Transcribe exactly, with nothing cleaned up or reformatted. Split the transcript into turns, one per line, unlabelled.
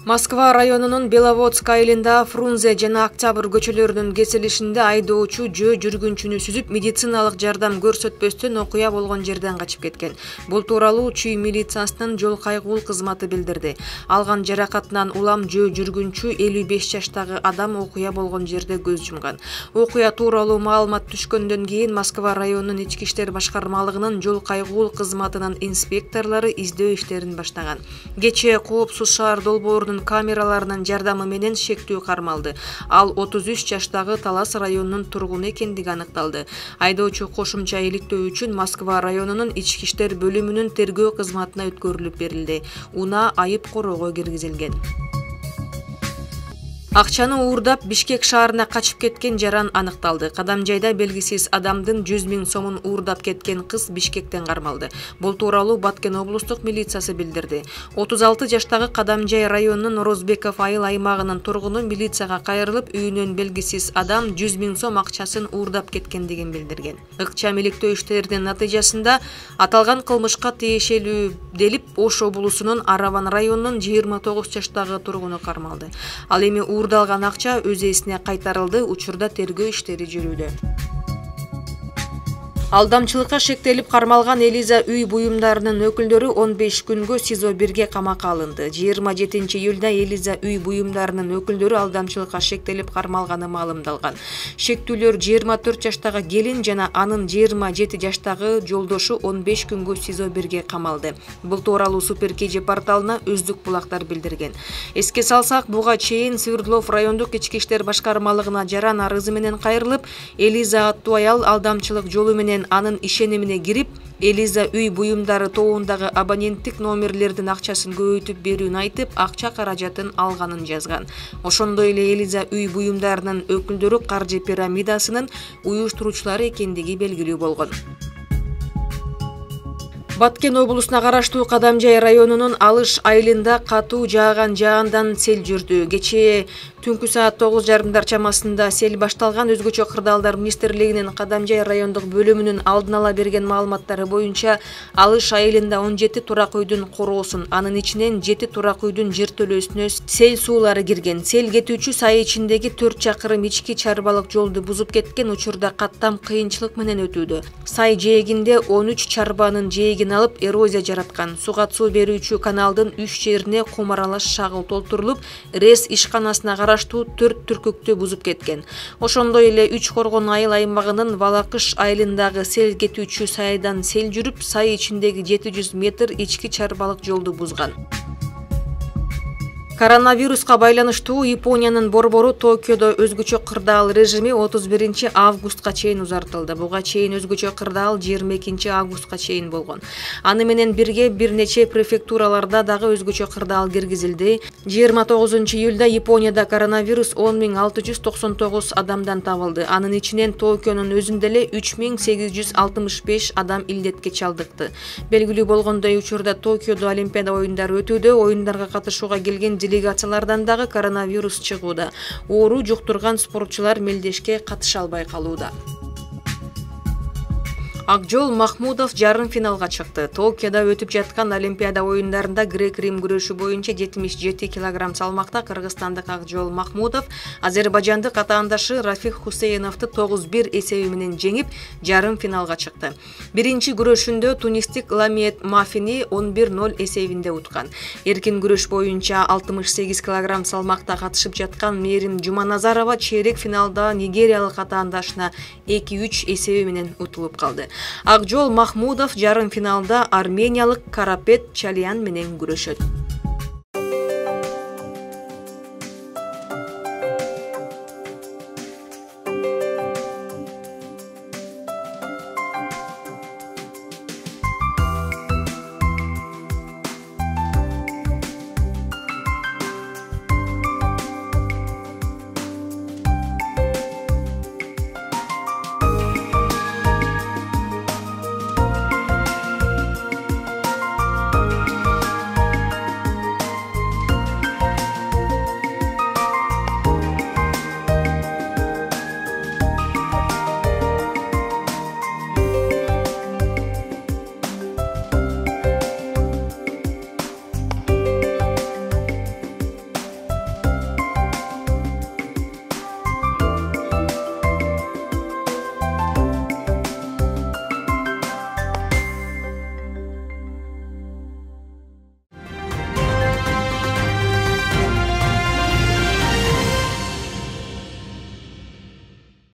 Москва районунун Беловодск айылында Фрунзе жана Октябрь көчөлөрүнүн кесилишинде айдоочу жөө жүргүнчүнү сүзүп медициналык жардам көрсөтпөстөн окуя болгон жерден качып кеткен. Бул тууралуу Чүй милициясынын жол кайгуул кызматы билдирди. Алган жаракатынан улам жөө жүргүнчү элүү беш жаштагы адам окуя болгон жерде көз жумган. Окуя тууралуу маалымат түшкөндөн кийин Москва районунун ички иштер башкармалыгынын жол кайгуул кызматынын инспекторлору издөө иштерин баштаган. Кечээ Коопсуз шаар долбоорунун камераларынын жардамы менен шектүү кармалды. Ал отуз үч жаштагы Талас районунун тургуну экендиги аныкталды. Айдоочу кошумча иликтөө үчүн Москва районунун ички иштер бөлүмүнүн тергөө кызматына өткөрүлүп берилди. Унаа айып короого киргизилген. Акчаны уурдап Бишкек шаарына качып кеткен жаран аныкталды. Кадамжайда белгисиз адамдын жүз миң сомун уурдап кеткен кыз Бишкектен кармалды. Бул тууралуу Баткен облустук милициясы билдирди. отуз алты жаштагы Кадамжай районунун Орозбеков айыл аймагынын тургуну милицияга кайрылып, үйүнөн белгисиз адам жүз миң сом акчасын уурдап кеткендигин билдирген. Ыкчам иликтөө иштеринин натыйжасында аталган кылмышка тиешелүү делип Ош облусунун Араван районунун жыйырма тогуз жаштагы тургуну кармалды. Ал эми уурдалган акча өз ээсине кайтарылды. Учурда тергөө иштери жүрүүдө. Алдамчылыкка шектелип кармалган Элиза үй буюмдарынын өкүлдөрү он беш күнгө СИЗО бирге камакка алынды. жыйырма жетинчи июлда Элиза үй буюмдарынын өкүлдөрү алдамчылыкка шектелип кармалганы маалымдалган. Шектүүлөр жыйырма төрт жаштагы келин жана анын жыйырма жети жаштагы жолдошу он беш күнгө СИЗО бирге камалды. Бул тууралуу Супер КЖ порталына Өздүк булактар билдирген. Эске салсак, буга чейин Свердлов райондук ички иштер башкармалыгына жаран арызы менен кайрылып, Элиза аттуу аял алдамчылык жолу менен анын ишенимине кирип, Элиза үй буюмдары тобундагы абоненттик номерлердин акчасын көбөйтүп берүүнү айтып, акча каражатын алганын жазган. Ошондой эле Элиза үй буюмдарынын өкүлдөрү каржы пирамидасынын уюштуруучулары экендиги белгилүү болгон. Баткен облусуна караштуу Кадамжай районунун Алыш айылында катуу жааган жаандан сел жүрдү. Кечээ түнкү саат тогуз жарымдар чамасында сел башталган. Өзгөчө кырдаалдар министрлигинин Кадамжай райондук бөлүмүнүн алдын ала берген маалыматтары боюнча Алыш айылында он жети турак үйдүн короосун, анын ичинен жети турак үйдүн жертөлөсүнө сел суулары кирген. Сел кетүүчү сай ичиндеги төрт чакырым ички чарбалык жолду бузуп кеткен. Учурда каттам кыйынчылык менен өтүүдө. Сай жээгинде он үч чарбанын жээги алып эрозия жараткан. Суга суу берүүчү каналдын үч жерине кумаралаш шагыл толтурулуп, РЭС ишканасына караштуу төрт түркүктү бузуп кеткен. Ошондой эле Үч Коргон айыл аймагынын Балакыш айылындагы сел кетүүчү сайдан сел жүрүп, сай ичиндеги жети жүз метр ички чарбалык жолду бузган. Коронавируска байланыштуу Япониянын борбору Токиодо өзгөчө кырдаал режими отуз биринчи августка чейин узартылды. Буга чейин өзгөчө кырдаал жыйырма экинчи августка чейин болгон. Аны менен бирге бир нече префектураларда дагы өзгөчө кырдаал киргизилди. жыйырма тогузунчу июлда Японияда коронавирус он миң алты жүз токсон тогуз адамдан табылды. Анын ичинен Токионун өзүндө эле үч миң сегиз жүз алтымыш беш адам илдетке чалдыкты. Белгилүү болгондой, учурда Токиодо Олимпиада оюндары өтүүдө. Оюндарга катышууга келген делегациялардан дагы коронавирус чыгууда. Оору жуктурган спортчулар мелдешке катыша албай калууда. Акжол Махмудов жарым финалга чыкты. Токиодо өтүп жаткан Олимпиада оюндарында грек-рим күрөшү боюнча жетимиш жети килограмм салмакта кыргызстандык Акжол Махмудов азербайжандык атаандашы Рафик Хусейновду тогуз бир эсеби менен жеңип, жарым финалга чыкты. Биринчи күрөшүндө тунистик Ламиет Мафини он бир ноль эсебинде уткан. Эркин күрөш боюнча алтымыш сегиз килограмм салмакта катышып жаткан Мерим Жуманазарова чейрек финалда нигериялык атаандашына эки үч эсеби менен утулуп калды. Акжол Махмудов жарым финалда армениялык Карапет Чалиян менен күрөшөт.